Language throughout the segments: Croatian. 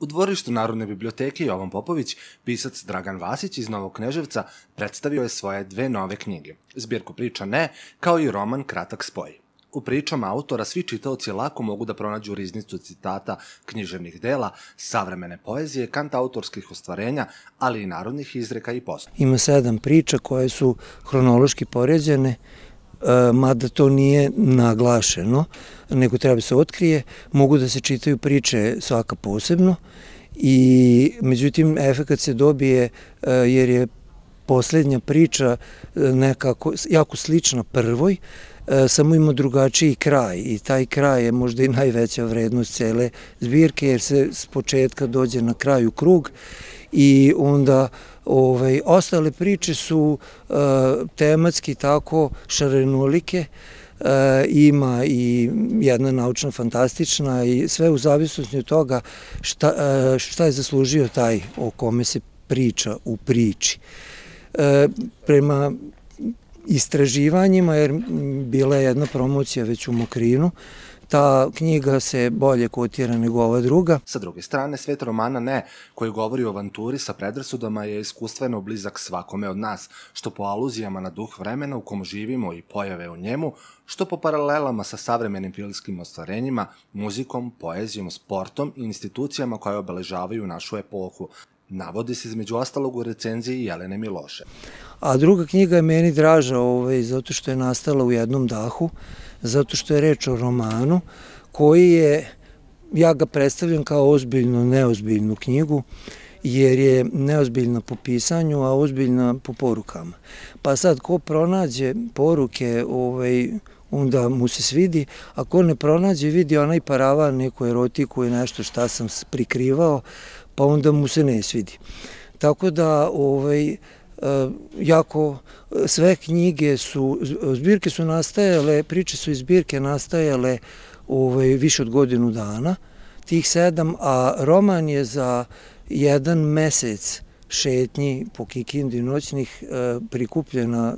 U dvorištu Narodne biblioteke Jovan Popović, pisac Dragan Vasić iz Novog Kneževca predstavio je svoje dve nove knjige, zbirku priča Ne, kao i roman Kratak spoj. U pričama autora svi čitaoci lako mogu da pronađu riznicu citata književnih dela, savremene poezije, kantautorskih ostvarenja, ali i narodnih izreka i posla. Ima 7 priča koje su hronološki poređene, mada to nije naglašeno, nego treba se otkrije, mogu da se čitaju priče svaka posebno i međutim efekat se dobije jer je posljednja priča nekako jako slična prvoj, samo ima drugačiji kraj i taj kraj je možda i najveća vrednost cele zbirke jer se s početka dođe na kraju krug i onda ostale priče su tematski tako šarenolike, ima i jedna naučna fantastična i sve u zavisnosti od toga šta je zaslužio taj o kome se priča u priči. Prema istraživanjima, jer bila je jedna promocija već u Mokrinu, ta knjiga se bolje kotira nego ova druga. Sa druge strane, svet romana Ne, koji govori o avanturi sa predrasudama, je iskustveno blizak svakome od nas, što po aluzijama na duh vremena u kom živimo i pojave u njemu, što po paralelama sa savremenim filmskim ostvarenjima, muzikom, poezijom, sportom i institucijama koje obeležavaju našu epohu. Navodi se između ostalog u recenziji Jelene Miloše. A druga knjiga je meni draža zato što je nastala u jednom dahu, zato što je reč o romanu koji je, ja ga predstavljam kao ozbiljnu, neozbiljnu knjigu, jer je neozbiljna po pisanju, a ozbiljna po porukama. Pa sad, ko pronađe poruke, onda mu se svidi, a ko ne pronađe, vidi onaj paravan, neku erotiku i nešto šta sam prikrivao, pa onda mu se ne svidi. Tako da, jako sve knjige su, zbirke su nastajale, priče su iz zbirke nastajale više od godinu dana, tih 7, a roman je za 1 mesec šetnji po Kikindi noćnih prikupljena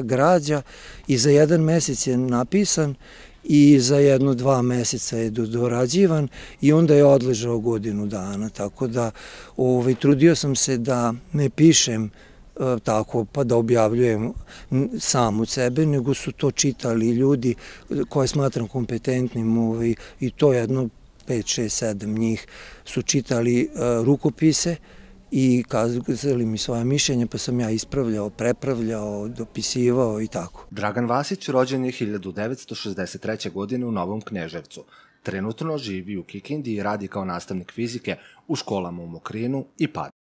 građa i za 1 mesec je napisan i za 1-2 meseca je dorađivan i onda je odležao godinu dana, tako da trudio sam se da ne pišem tako pa da objavljujem sam od sebe, nego su to čitali ljudi koje smatram kompetentnim i to jedno 5, 6, 7 njih su čitali rukopise i kazali mi svoje mišljenje, pa sam ja ispravljao, prepravljao, dopisivao i tako. Dragan Vasić rođen je 1963. godine u Novom Kneževcu. Trenutno živi u Kikindi i radi kao nastavnik fizike u školama u Mokrinu i Padini.